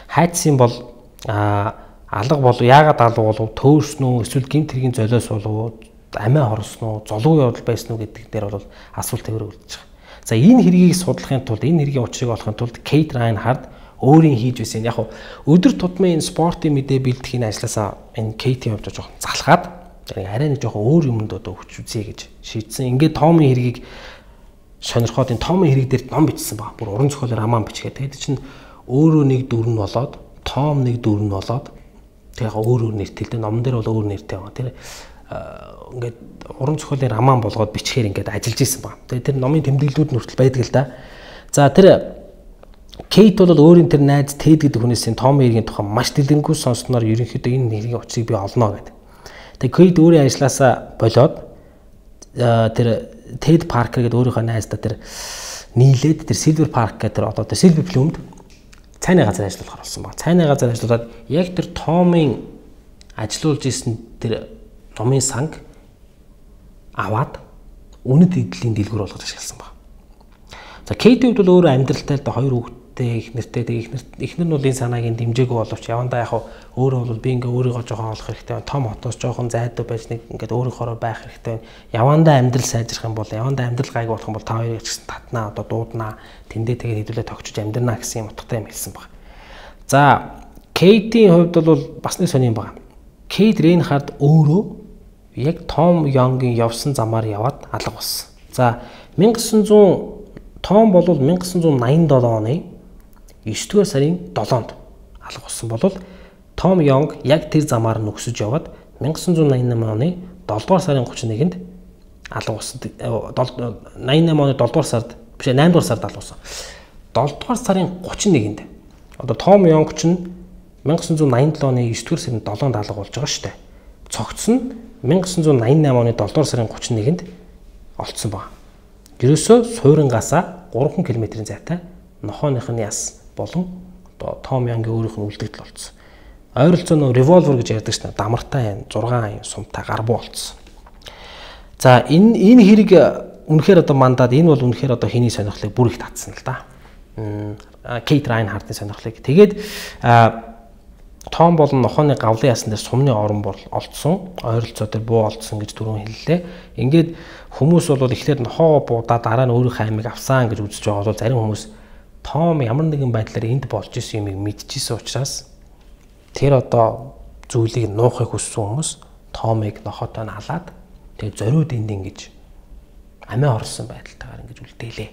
Хайцсан бол а алга болов яагаад алга болов төөрснөө эсвэл гэмт хэргийн золиос болов амиа хорсон уу, золгүй явдал байсан уу гэдэг дээр бол асуулт тавир үлдэж байгаа. За энэ хэргийг судлахын тулд энэ хэргийн учрыг олохын тулд Кейт Райнхард өөрийн хийж байсан яг өдөр тутмын энэ спортын мэдээ бэлтгэхийн ажлаасаа энэ Кейтийн хувьд жоохон залхаад арай нэг жоохон өөр юмд одоо өгч үзье гэж шийдсэн. Ингээд Томын хэргийг сонирхоод энэ Томын хэрэг дээр ном бичсэн баг. Бүр уран зохиолоор аман бичгээ. Тэгээд чинь өөрөө нэг дүр нь болоод, Том нэг дүр нь болоод тэг яг өөр өөр нэртэй л дээ. Номон дээр бол өөр нэртэй байгаа. Тэр ингээд уран зохиолын аман болгоод бичгээр ингээд ажиллаж исэн баг. Тэгээд тэр номын тэмдэглэлүүд нь хүртэл байдаг л да. За тэр Кейт бол өөрийн тэр найз Тэд гэдэг хүнээс Томын хэргийн тухай маш дэлгэрэнгүй сонссноор ерөнхийдөө энэ хэргийн учрыг би олно гэдэг. Тэгээд Кейт өөрийн ажлаасаа болоод тэр Тэд Паркер гэдэг өөрийнхөө найздаа тэр нийлээд тэр Silver Park гэдэг тэр одоо тэр Silver Plume-д цайны газар ажиллах болсон баг. Цайны газар ажиллаад яг тэр Томын ажиллуулж исэн тэр номын санг аваад үнэт эдлийн дэлгүүр болгож ашигласан баг. За Кейтийн хувьд бол өөрөө амьдралтай л да хоёр хүүхэдтэй их нэртэй тэг ихнэр ихнэр нь бол энэ санааг нь дэмжээгүй боловч явандаа яг өөрөө бол би ингээ өөрийгөө жоохон олох хэрэгтэй. Том хотоос жоохон зайдуу байж нэг ингээд өөрийнхөө байх хэрэгтэй. Явандаа амьдрал сайжрах юм бол явандаа амьдрал гайг болох юм бол та хоёрыг ч гэсэн татнаа одоо дууднаа тэндээ тэгээд хэдүүлээ тогтчиж амьдрнаа гэсэн юм утгатай юм хэлсэн баг. За Кейтийн хувьд бол бас нэг сони юм байна. Кейт Райнхард өөрөө яг Том Йонгийн явсан замаар яваад алга болсон. За 천구 백팔 Том бол 천구 восемьдесят седем оны девятдугаар сарын долоонд алга болсон бол Том Йонг яг тэр замаар нь өксөж яваад 천구 восемьдесят восемь оны долоодугаар сарын тридцать нэгнд алга болсон. восемьдесят восемь оны долоодугаар сард биш наймдугаар сард алга болсон. долоодугаар сарын тридцать нэгэнд одоо Том Йонг ч 천구 восемьдесят восемь оны девятдугаар сарын долоонд алга болж байгаа шүү дээ. Цогц нь 천구 восемьдесят восемь оны долоодугаар сарын тридцать нэгэнд олцсон баг. Ерөөсөө суйрангасаа гурван км-ийн зайтай нохооных нь яс болон одоо Том Йонгийн өөрийнх нь үлдэгдэл олцсон. Ойролцоо нөө револьвер гэж ярьдаг шнэ дамартай зургаан сумтай гарбуу олцсон. За энэ энэ хэрэг үнэхээр одоо мандаад энэ бол үнэхээр одоо хэний сонирхлыг бүр их татсан л да. Кейт Райнхардын сонирхлыг. Тэгээд Том болон нохооны гавлын ясан дээр сумны орон бол олдсон. Ойролцоо дээр буу олдсон гэж түрүүн хэллээ. Ингээд хүмүүс бол эхлээд нохоо буудаа дараа нь өөрийнхөө аймыг авсан гэж үзэж байгаа бол зарим хүмүүс Том ямар нэгэн байдлаар энд болж исэн юмыг мэдчихсэн учраас тэр одоо зүйлийг нуухыг хүссэн хүмүүс Томыг нохоотой нь халаад тэгээ зориуд энд ингэж амиа орсон байдалтайгаар ингэж үлдээлээ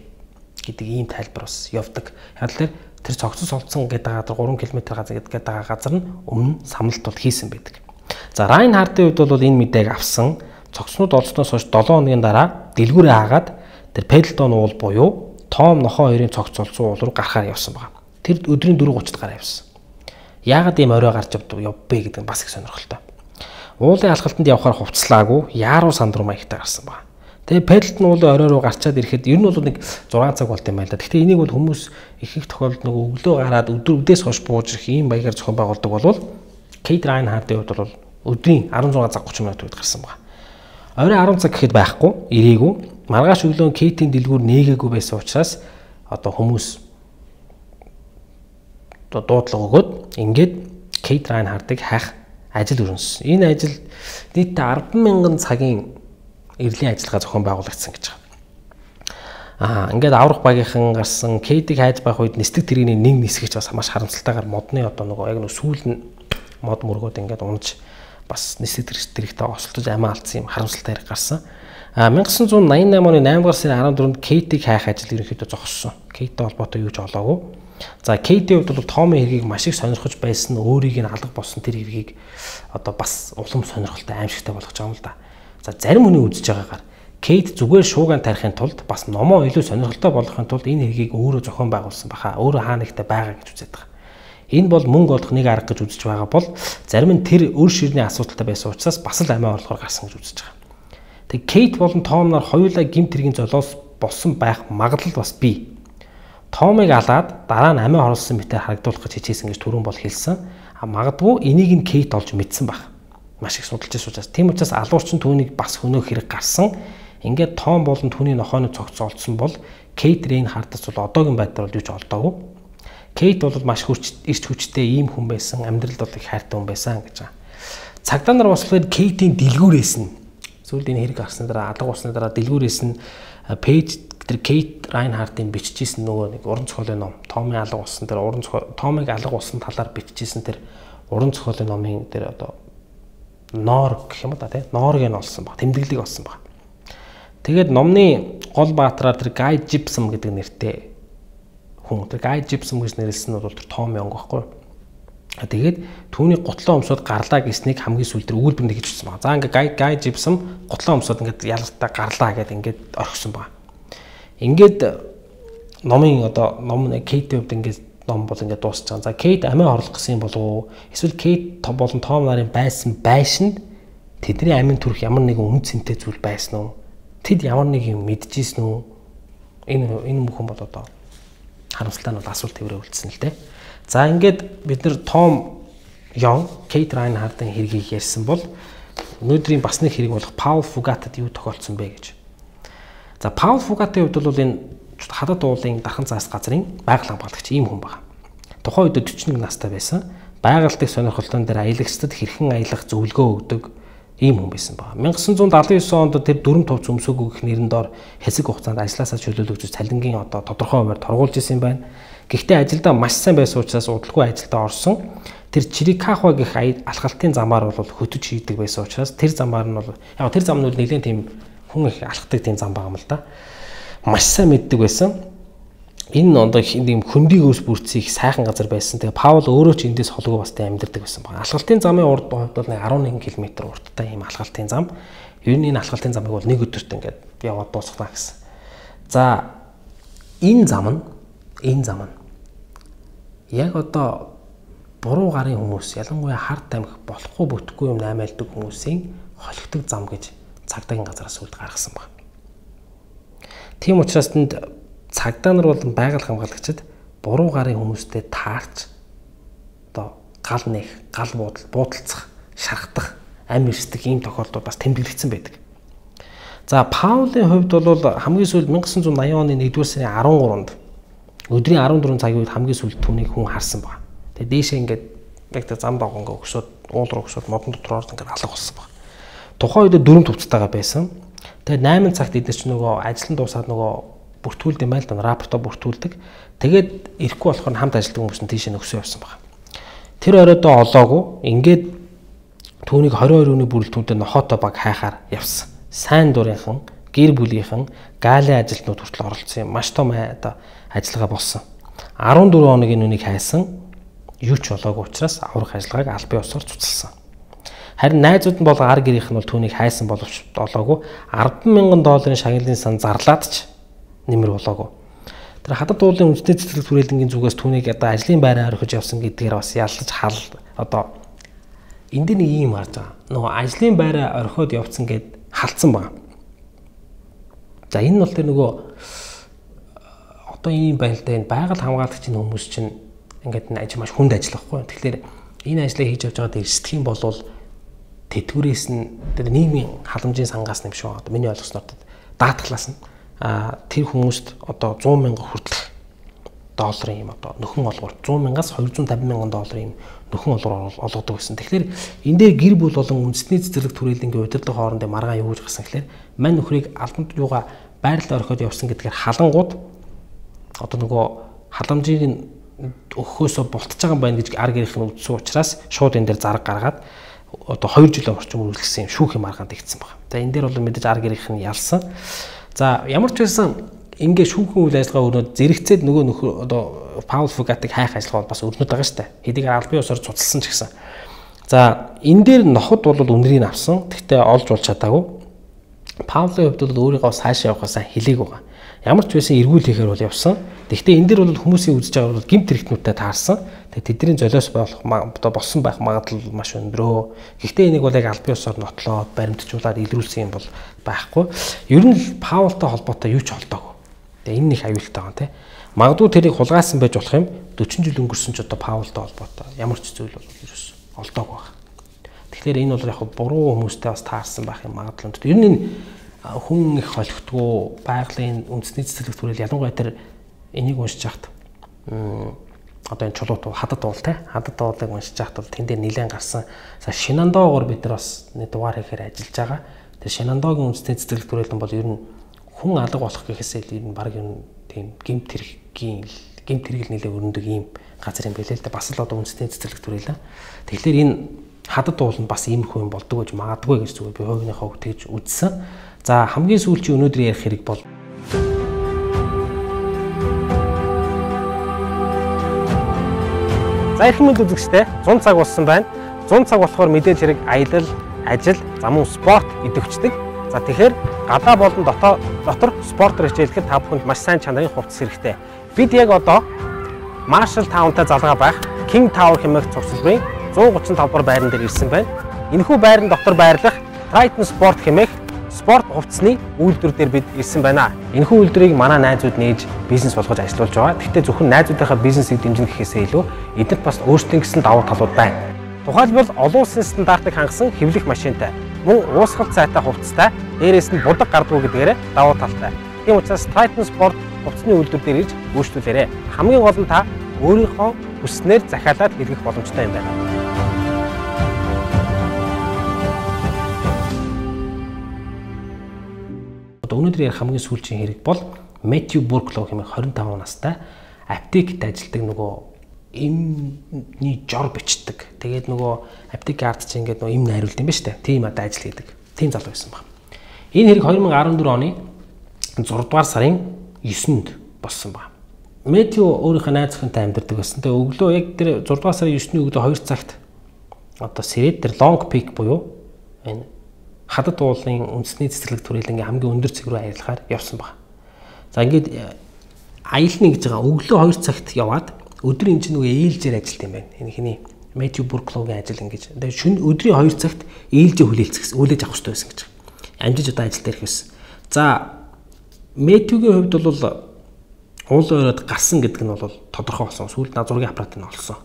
гэдэг ийм тайлбар бас явдаг. Яг л тэр цогцос олдсон гэдэг гурван км газар гэдэг газар нь өмнө самналт бол хийсэн байдаг. За Райнхардын хувьд бол энэ мэдээг авсан. Цогцнууд олсноос хойш долоо хоногийн дараа дэлгүүрээ хаагаад тэр Пэдлтон уул буюу Том нохоо хоёрын цогц олсон уул руу гарахаар явсан байна. Тэр өдрийн дөрвөн тридцать гараа явсан. Яагаад ийм орой гарч явбэ гэдэг нь бас их сонирхолтой. Уулын алхалтанд явхаар хувцлаагүй яаруу санд руу маягтай гарсан байна. Тэгээ Пэдлтон уулын орой руу гарчаад ирэхэд ер нь бол нэг зургаан цаг болт юм байна л да. Гэхдээ энийг бол хүмүүс их их тохиолдолд нэг өглөө гараад өдөр өдөөс хойш бууж ирэх ийм баягаар зохион байгуулдаг болвол Кейт Райнхардын хувьд бол өдрийн арван зуун цаг тридцать минут үед гарсан байна. Орой арван цаг гэхэд байхгүй, ирээгүй. Маргааш өглөө Кейтийн дэлгүүр нээгээгүй байсан учраас одоо хүмүүс одоо дуудлага өгөөд ингээд Кейт Райнхардыг хайх ажил өрнөсөн. Энэ ажил нийтдээ арван мянган цагийн эрлийн ажиллагаа зохион байгуулагдсан гэж байна. Аа ингээд аврах багийнхан гарсан Кейтийг хайж байх үед нисдэг тэрэгний нэг нисгэж бас маш харамсалтайгаар модны одоо нөгөө яг нэг сүүл нь мод мөргөөд ингээд унж бас нисдэг тэрэгтэй осолдож амиа алдсан юм харамсалтай хэрэг гарсан. А 천구 восемьдесят восемь оны наймдугаар сарын арван дөрөвнд Кейтийг хайх ажил ерөнхийдөө зогссон. Кейттэй холбоотой юу ч олоогүй. За Кейтийн хувьд бол Томын хэргийг маш их сонирхож байсан өөрийг нь алга болсон тэр хэргийг одоо бас улам сонирхолтой аимшигтай болгож байгаа юм л да. За зарим хүний үзэж байгаагаар Кейт зүгээр шууган тарихын тулд бас номоо илүү сонирхолтой болгохын тулд энэ хэргийг өөрөө зохион байгуулсан баха. Өөрөө хаа нэгтэй байгаа гэж үзээд байгаа. Энэ бол мөнгө олох нэг арга гэж үзэж байгаа бол зарим нь тэр өр ширний асуудалтай байсан учраас бас л амиа орлохоор гарсан гэж үзэж байгаа. Тэг Кейт болон Том нар хоёулаа гэмт хэргийн золоос болсон байх магадлал бас бий. Томыг алаад дараа нь амиа хорлсон мэтээр харагдуулах гэж хичээсэн гэж түрүүн бол хэлсэн. А магадгүй энийг нь Кейт олж мэдсэн баг. Маш их судалж ирсэн учраас тийм учраас алуурчин түүнийг бас хөнөөх хэрэг гарсан. Ингээд Том болон түүний нохооны цогц олдсон бол Кейт Райнхардаас бол одоогийн байдлаар юу ч олдоогүй. Кейт бол маш хүч ирч хүчтэй ийм хүн байсан. Амьдралд бол их хайртай хүн байсан гэж байгаа. Цагдаа нар бас Кейтийн дэлгүүрээс нь Сүүлд энэ хэрэг гарсны дараа алга болсны дараа дэлгүүрээс нь пэйж тэр Кейт Райнхартын бичижсэн нөгөө нэг уран зохиолын ном Томын алга болсон тэр уран зохиол Томыг алга болсон талаар бичижсэн тэр уран зохиолын номын тэр одоо ноор гэх юм да тий ноорыг нь олсон баг тэмдэглэлийг олсон баг. Тэгээд номны гол баатраар тэр Гай Жипсом гэдэг нэртэй хүн тэр Гай Жипсом гэж нэрлсэн нь бол тэр Том Йонг байхгүй. Тэгээд түүний гутлаа өмсөд гарлаа гэснийг хамгийн сүүлд тэр өгүүлбэр нэг гэж хэлсэн баг. За ингээ Гай Гай Жипсом гутлаа өмсөд ингээд ялгартаа гарлаа гэдэг ингээд орхисон баг. Ингээд номын одоо ном Кейт хувьд ингээд ном бол ингээд дуусч байгаа. За Кейт амиа орлох гэсэн юм болов уу? Эсвэл Кейт болон Том нарын байсан байшинд тэдний амин төрөх ямар нэгэн үн цэнтэй зүйл байсан уу? Тэд ямар нэг юм мэдчихсэн үү? Энэ энэ бүхэн бол одоо харамсалтай нь бол асуулт тэмрээ үлдсэн л дээ. За ингээд бид нэр Том Йонг, Кейт Райнхартын хэргийг ярьсан бол өнөөдрийн бас нэг хэрэг болох Паул Фугатад юу тохиолдсон бэ гэж. За Паул Фугатын хувьд бол энэ хадад уулын дархан цаас газрын байгаль хамгаалагч ийм хүн байна. Тухайн үед forty-one настай байсан. Байгальтыг сонирхолтой дээр аялагчдад хэрхэн аялах зөвлөгөө өгдөг ийм хүн байсан байна. nineteen seventy-nine онд тэр дүрм товч өмсөөгөө гэх нэрэн доор хэсэг хугацаанд ажилласаа чөлөөлөгч цалингийн одоо тодорхой хуваар торгуулж исэн юм байна. Гэхдээ ажилдаа маш сайн байсан учраас удалгүй ажилдаа орсон. Тэр Чирикахва гэх алхалтын замаар бол хөтөж хийдэг байсан учраас тэр замаар нь бол яг тэр зам нь нэлээд тийм хүн их алхдаг тийм зам байгаа юм л да. Маш сайн мэддэг байсан. Энэ ондоо ийм хөндөг өөс бүрцийг сайхан газар байсан. Тэгээ Паул өөрөө ч эндээс холгүй бастай амьдардаг байсан баг. Алхалтын замын урд хувьд бол eleven км урттай ийм алхалтын зам. Ер нь энэ алхалтын замыг бол нэг өдөрт ингээд яваад дуусгана гэсэн. За энэ зам нь энэ зам нь яг одоо буруу гарын хүмүүс ялангуяа хард тамхи болохгүй бүтэхгүй юм наймаалдаг хүмүүсийн холигдог зам гэж цагдаагийн газараас үлд гаргасан баг. Тийм учраас тэнд цагдаа нар бол байгаль хамгаалагчид буруу гарын хүмүүстэй таарч одоо гал нэх, гал буудал, буудалцах, шархтах, ам ирсдэг ийм тохиолдол бас тэмдэглэгдсэн байдаг. За Паулын хувьд бол хамгийн сүүлд nineteen ninety оны нэгдүгээр сарын thirteen-нд өдрийн fourteen цагийн үед хамгийн сүүлд түүнийг хүн харсан баг. Тэгээ дээшээ ингээд яг тэ зам дагуу ингээд өгсөд уул руу өгсөд модон дотроор ингээд алга болсон баг. Тухайн үед дөрөв төвцтэйгээ байсан. Тэгээ eight цагт эдгээр ч нөгөө ажил нь дуусаад нөгөө бүртгүүлдэг юм байл да рапортоо бүртгүүлдэг. Тэгээд ирэхгүй болохоор хамт ажилладаг хүмүүс нь тийшээ нөхсөө явсан баг. Тэр оройдоо олоогүй. Ингээд түүнийг twenty-two өдрийн бүрэлдэхүүнтэй нохотой баг хайхаар явсан. Сайн дурынхан, гэр бүлийнхэн, гаалын ажилтнууд хүртэл оролцсон юм. Маш том оо ажиллагаа болсон. fourteen хоногийн үнийг хайсан. Юу ч болоогүй учраас аврах ажиллагааг албан ёсоор цуцлсан. Харин найзууд нь бол гар гэрийнх нь бол түүнийг хайсан боловч олоогүй. ten thousand долларын шагналын сан зарлаад ч нэмэр болоогүй. Тэр хадад уулын үндэсний цэцэрлэг түрээлэнгийн зүгээс түүнийг одоо ажлын байраа орхиж явсан гэдгээр бас яллаж хал одоо энд нэг юм харж байгаа. Нөгөө ажлын байраа орхиод явцсан гэд халдсан байна. За энэ нь бол тэр нөгөө одоо ийм байлдаа энэ байгаль хамгаалагчийн хүмүүс чинь ингээд энэ ажил маш хүнд ажил байхгүй. Тэгэхээр энэ ажлыг хийж явж байгаа дэрсдэх юм бол тэтгэврээс нь тэр нийгмийн халамжийн сангаас нэм шүү. Одоо миний ойлгосноор даатгалаас нь а тэр хүмүүст одоо one hundred мянга хүртэлх долларын юм одоо нөхөн олгор one hundred мянгаас two hundred fifty мянган долларын нөхөн олгор олгодог гэсэн. Тэгэхээр энэ дээр гэр бүл болон үндэсний цэцэрлэг түрээлэнгийн удирдлага хоорондын маргаан юу гэж гасан гэхээр мань нөхрийг албанд юугаа байрлал орхиод явсан гэдгээр халангууд одоо нөгөө халамжийг өгөхөөсөө бултж байгаа юм байна гэж ар гэрийнх нь үзсэн учраас шууд энэ дээр зарга гаргаад одоо two жилийн орчим үргэлжлэсэн юм шүүхийн маргаанд игдсэн байна. За энэ дээр бол мэдээж ар гэрийнх нь ялсан. За ямар ч байсан ингээ шүүхийн үйл ажиллагаа өрнөд зэрэгцээд нөгөө нөхөр одоо Паул Фугатыг хайх ажиллагаа бас өрнөд байгаа шүү дээ. Хэдийг албан ёсоор цуцлсан ч гэсэн. За энэ дээр ноход бол үнэрийг авсан. Гэхдээ олж болж чадаагүй. Паулын хувьд бол өөрийгөө сайшаа явахаасаа хэлээг байгаа. Ямар ч байсан эргүүл хийхээр бол явсан. Гэхдээ энэ дээр бол хүмүүсийн үзэж байгаа бол гэмт хэрэгтнүүдтэй таарсан. Тэгээ тэдний золиос болох одоо болсон байх магадлал маш өндрөө. Гэхдээ энийг бол яг албан ёсоор нотлоод баримтжуулаад илрүүлсэн юм бол байхгүй. Ер нь Паултай холбоотой юу ч холдоогүй. Тэгээ энэ их аюултай байгаа тийм. Магадгүй тэрийг хулгайсан байж болох юм. forty жил өнгөрсөн ч одоо Паултай холбоотой ямар ч зүйл бол ерөөс олдоогүй байна. Тэгэхээр энэ бол яг буруу хүмүүстэй бас таарсан байх юм магадлал өндөр. Ер нь энэ хүн их холигдгоо байгалийн үндэсний цэцэрлэг түрэл ялангуяа тэр энийг уншиж яхад одоо энэ чулуут хадад уул те хадад уулыг уншиж яхад бол тэн дээр нэлээд гарсан. За Шинандоогоор бид нар бас нэг дугаар хийхээр ажиллаж байгаа. Тэр Шенандогийн үндэсний цэцэрлэг төрөлтөн бол ер нь хүн алга болох гэхээсээ ер нь баг ер нь тийм гэмт хэргийн гэмт хэрэг нэлээ өрнөдөг ийм газар юм билээ л да. Бас л одоо үндэсний цэцэрлэг төрөлөө. Тэгэхээр энэ хадад уул нь бас иймэрхүү юм болдог гэж магадгүй гэж зүгээр би хувийнхаа хувьд тэгж үзсэн. За хамгийн сүүлчийн өнөөдөр ярих хэрэг бол За их мэд үзэгчтэй зун цаг болсон байна. зун цаг болохоор мэдээж хэрэг аялал, ажил, зам уу спорт идэвхждэг. За тэгэхээр гадаа болон дотоо дотор спортоор хичээлэхэд та бүхэнд маш сайн чанарын хувцас хэрэгтэй. Бид яг одоо Marshall Town-тай залгаа байх King Tower хэмээх цогцлбарын зуун гучин тавд дугаар байран дээр ирсэн байна. Энэхүү байран дотор байрлах Triton Sport хэмээх спорт хувцсны үйлдвэр дээр бид ирсэн байна. Энэхүү үйлдвэрийг манай найзууд нээж бизнес болгож ажиллуулж байгаа. Гэхдээ зөвхөн найзуудынхаа бизнесийг дэмжих гэхээсээ илүү эдгээр бас өөрсдийн гэсэн давуу талууд байна. Тухайлбал олон улсын стандартыг хангасан хэвлэх машинтай, мөн уусгалт сайтай хувцастай, дээрээс нь будаг гардгүй гэдгээр давуу талтай. Тийм учраас Triton Sport хувцсны үйлдвэр дээр ирж үйлчлүүлээрэй. Хамгийн гол нь та өөрийнхөө хүснээр захиалаад хэрэглэх боломжтой юм байна. Өнөөдөр ярих хамгийн сүүлчийн хэрэг бол Matthew Burklow хэмээх двадцать пять настай аптект ажилладаг нөгөө эмний жор бичдэг. Тэгээд нөгөө аптекийн ард чинь ингээд нөгөө эм найруулд юм ба штэ. Тийм одоо ажил хийдэг. Тийм залуу байсан баг. Энэ хэрэг две тысячи дөрвөн оны зураг дугаар сарын девятнд болсон баг. Matthew өөрийнхөө найз охинтой амьдардаг байсан. Тэгээд өглөө яг тэр зураг дугаар сарын девятний өглөө хоёр цагт одоо Сэрэд тэр Long Peak буюу энэ хадад уулын үндэсний цэцэрлэг төрөлнгийн хамгийн өндөр цэг рүү аялахаар явсан баг. За ингээд аялна гэж байгаа өглөө хоёр цагт яваад өдөр энэ чинь нөгөө ээлжээр ажилт юм байна. Энэ хиний Matthew Burklow-гийн ажил ингэж. Тэгээд шөнө өдрийн хоёр цагт ээлжээ хүлээлцэх, хүлээж авах хэрэгтэй байсан гэж. Амжиж одоо ажилд ирэх байсан. За Matthew-гийн хувьд бол уулын оройд гарсан гэдэг нь бол тодорхой болсон. Сүүлд на зургийн аппарат нь олсон.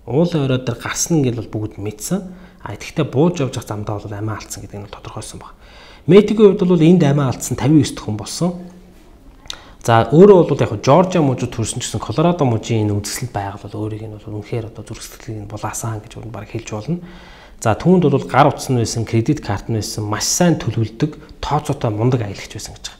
Уулын оройд дээр гарсан гэж бол бүгд мэдсэн. А тэгэхдээ бууж явж байгаа замдаа бол амиа алдсан гэдэг нь тодорхойсон баг. Мэттигийн хувьд бол энд амиа алдсан cinquanta nine хүн болсон. За өөрөө бол яг Жоржиа мужид төрсөн ч гэсэн Колорадо мужийн энэ үзэсгэлэнт байгал бол өөрийг нь бол үнэхээр одоо зүрх сэтгэлийг нь булаасан гэж баг хэлж болно. За түүнд бол гар утас нь байсан, кредит карт нь байсан, маш сайн төлөвлөдөг, тооцоотой мундаг аялагч байсан гэж байгаа.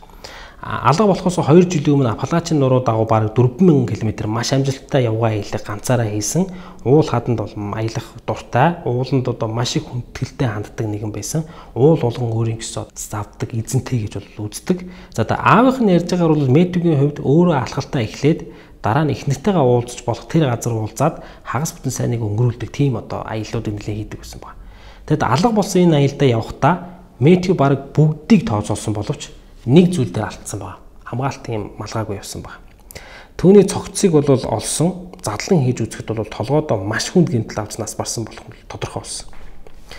Алга болохоос хоёр жилийн өмнө Апалачин нуруу дагуу бараг дөрвөн мянган километр маш амжилттай явгаа аялал ганцаараа хийсэн. Уул хаданд бол аялах дуртай, ууланд одоо маш их хүндэтгэлтэй ханддаг нэгэн байсан. Уул болгон өөрийн гэсэн завддаг, эзэнтэй гэж бол үздэг. За одоо аавынх нь ярьж байгаагаар бол Мэттигийн хувьд өөрөө алхалтаа эхлээд дараа нь эхнэртэйгээ уулзч болох тэр газар уулзаад хагас бүтэн сайныг өнгөрүүлдэг тийм одоо аяллуудыг нэлээд хийдэг байсан байна. Тэгэд алга болсон энэ аялдаа явахдаа Мэттиг бараг бүгдийг тооцоолсон боловч нэг зүйл дээр алдсан байна. Хамгаалтын малгайгүй явсан байна. Түүний цогцыг бол олсон, задлан хийж үзэхэд бол толгойдоо маш хүнд гэмтэл авснаас барсан болох нь тодорхой болсон.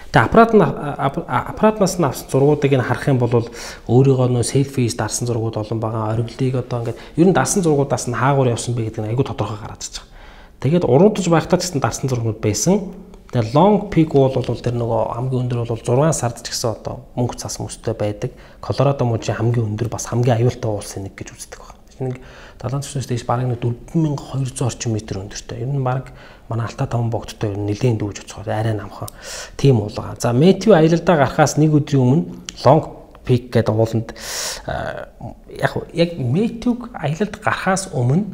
Тэгээ аппарат нь аппаратнаас нь авсан зургуудыг нь харах юм бол өөрийгөө нөө селфис дарсан зургууд олон байгаа. Оргилыг одоо ингээд ер нь дарсан зургуудаас нь хаагуур явсан бэ гэдэг нь айгүй тодорхой гараад ирж байгаа. Тэгээд уруудаж байхдаа ч гэсэн дарсан зургууд байсан. Тэгээ Long Peak Wall бол тэр нөгөө хамгийн өндөр бол зургаан сард ч гэсэн одоо мөнгө цас мөстэй байдаг. Колорадо мужийн хамгийн өндөр бас хамгийн аюултай уулсын нэг гэж үздэг байна. Нэг далайн түвшнээс дэш бараг дөрвөн мянган хоёр жүз орчим метр өндөртэй. Ер нь бараг манай Алтай таван богдтой ер нь нэлээд дүүж оцгоор арай намхан тийм уул байгаа. За Мэттиу аялалдаа гарахаас нэг өдрийн өмнө Long Peak гэдэг ууланд яг яг Мэттиуг аялалд гарахаас өмнө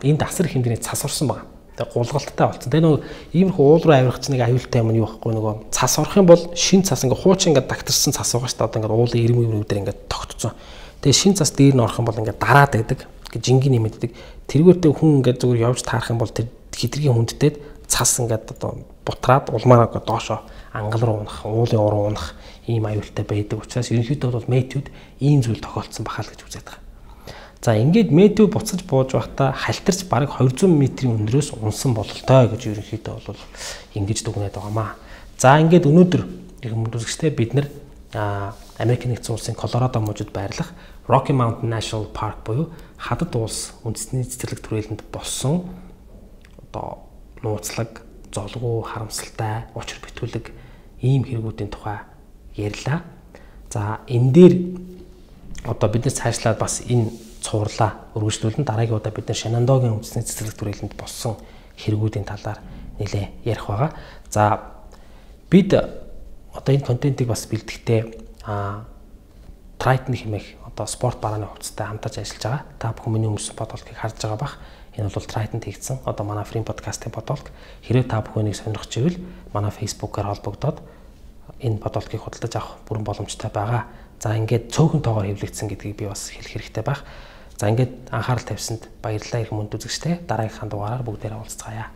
энэ дасар хэмжээний цас орсон байна. Тэгээ гулгалттай болсон. Тэгээ нөгөө иймэрхүү уул руу авирах чинь нэг аюултай юм нь юу байхгүй нөгөө цас орох юм бол шин цас ингээ хуучин ингээ дагтарсан цас байгаа шүү дээ. Одоо ингээ уулын ирэм ирэм дээр ингээ тогтцсон. Тэгээ шин цас дээр нь орох юм бол ингээ дараад байдаг. Ингээ жингийн нэмэгддэг. Тэргүүртэй хүн ингээ зүгээр явж таарах юм бол тэр хитргийн хүндтэд цас ингээ одоо бутраад улмаараа доошоо ангал руу унах, уулын уруу унах ийм аюултай байдаг. Учраас ерөнхийдөө бол Мэттиуд ийм зүйл тохиолдсон бахал гэж үзээд байгаа. За ингээд Мэттиу буцаж бууж байхдаа халтарч бараг двести метрийн өндрөөс унсан бололтой гэж ерөнхийдөө бол ингэж дүгнээд байгаамаа. За ингээд өнөөдөр их хүмүүсттэй бид нэр Америк нэгдсэн улсын Колорадо мужид байрлах Rocky Mountain National Park буюу хадад улс үндэсний цэцэрлэг төрөлөнд болсон одоо нууцлаг, золгуу, харамсалтай, учир битүүлэг ийм хэрэгүүдийн тухай ярьлаа. За энэ дээр одоо биднес цаашлаад бас энэ цуурлаа өргөжлүүлэн дараагийн удаа бид нар Шенандогийн үндэсний цэцэрлэг төрөлөнд болсон хэрэгүүдийн талаар нэлээ ярих байгаа. За бид одоо энэ контентыг бас бэлтгэхдээ а Triton хэмээх одоо спорт барааны хувцастай хамтарч ажиллаж байгаа. Та бүхэн миний өмссөн бодолтыг харж байгаа бах. Энэ бол Triton хийгдсэн одоо манай Free podcast-ийн бодолт. Хэрвээ та бүхэнийг сонирхож ивэл манай Facebook-аар холбогдоод энэ бодолтыг худалдаж авах бүрэн боломжтой байгаа. За ингээд цөөхөн тоогоор хэвлэгдсэн гэдгийг би бас хэлэх хэрэгтэй байх. За ингээд анхаарал тавьсанд баярлалаа их мөнд үзэгчтэй. Дараагийнхаа дугаараар бүгдээрээ уулзцаая.